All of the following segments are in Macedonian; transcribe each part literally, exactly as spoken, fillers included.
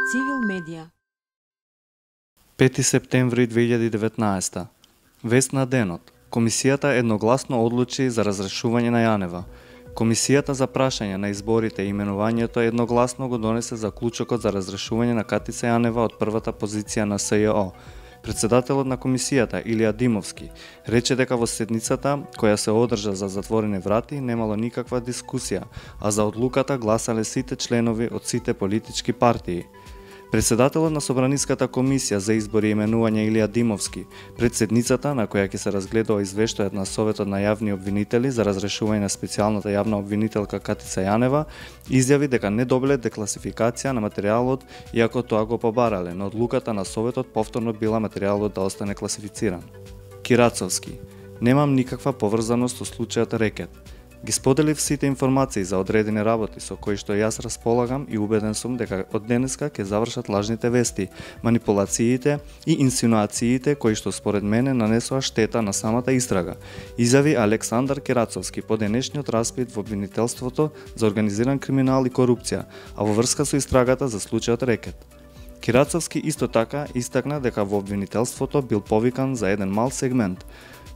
Цивил медија. пети септември две илјади и деветнаесета. Вест на денот. Комисијата едногласно одлучи за разрешување на Јанева. Комисијата за прашање на изборите и именувањето едногласно го донесе заклучокот за разрешување на Катица Јанева од првата позиција на С Ј О. Председателот на комисијата Илија Димовски рече дека во седницата која се одржа за затворени врати немало никаква дискусија, а за одлуката гласале сите членови од сите политички партии. Председателот на Собраниската комисија за избори и именување Илија Димовски, пред седницата на која ќе се разгледува извештајот на Советот на јавни обвинители за разрешување на специјалната јавна обвинителка Катица Јанева, изјави дека не добиле декласификација на материјалот, иако тоа го побарале, но одлуката на Советот повторно била материјалот да остане класифициран. Кирацовски: Немам никаква поврзаност со случајот Рекет. Ги споделив сите информации за одредени работи со кои што јас располагам и убеден сум дека од денеска ќе завршат лажните вести, манипулациите и инсинуациите кои што според мене нанесоа штета на самата истрага, изјави Александар Кирацовски по денешниот распит во обвинителството за организиран криминал и корупција, а во врска со истрагата за случајот Рекет. Кирацовски исто така истакна дека во обвинителството бил повикан за еден мал сегмент.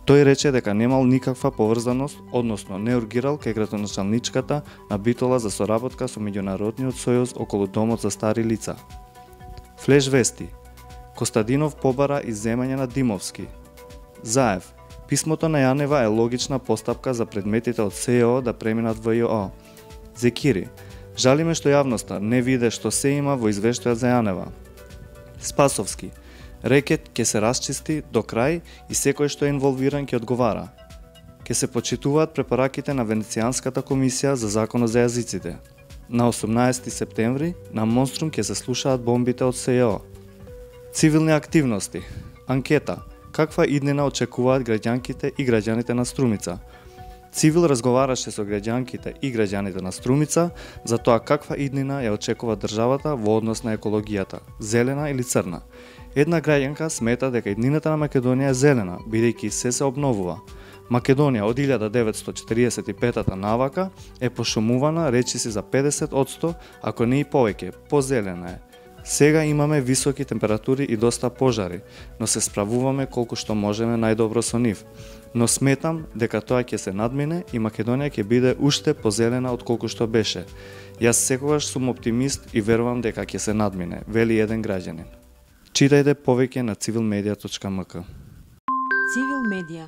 Тој рече дека немал никаква поврзаност, односно не ургирал кај градоначалничката на Битола за соработка со Меѓународниот сојуз околу домот за стари лица. Флеш вести. Костадинов побара изземање на Димовски. Заев. Писмото на Јанева е логична постапка за предметите од С Ј О да преминат во Ј О. Зекири. Жалиме што јавноста не виде што се има во извештајот за Јанева. Спасовски. Рекет ќе се расчисти до крај и секој што е инволвиран ќе одговара. Ќе се почитуваат препораките на Венецијанската комисија за законот за јазиците. На осумнаесети септември на Монструм ќе се слушаат бомбите од С Ј О. Цивилни активности. Анкета. Каква иднина очекуваат граѓанките и граѓаните на Струмица? Цивил разговараше со граѓанките и граѓаните на Струмица за тоа каква иднина ја очекува државата во однос на екологијата, зелена или црна. Една граѓанка смета дека иднината на Македонија е зелена, бидејќи се се обновува. Македонија од илјада деветстотини четиридесет и петата навака е пошумувана речиси за педесет одсто, ако не и повеќе, позелена е. Сега имаме високи температури и доста пожари, но се справуваме колку што можеме најдобро со нив. Но сметам дека тоа ќе се надмине и Македонија ќе биде уште позелена од колку што беше. Јас секогаш сум оптимист и верувам дека ќе се надмине, вели еден граѓанин. Читајте повеќе на цивил медија точка м к. Цивил медија.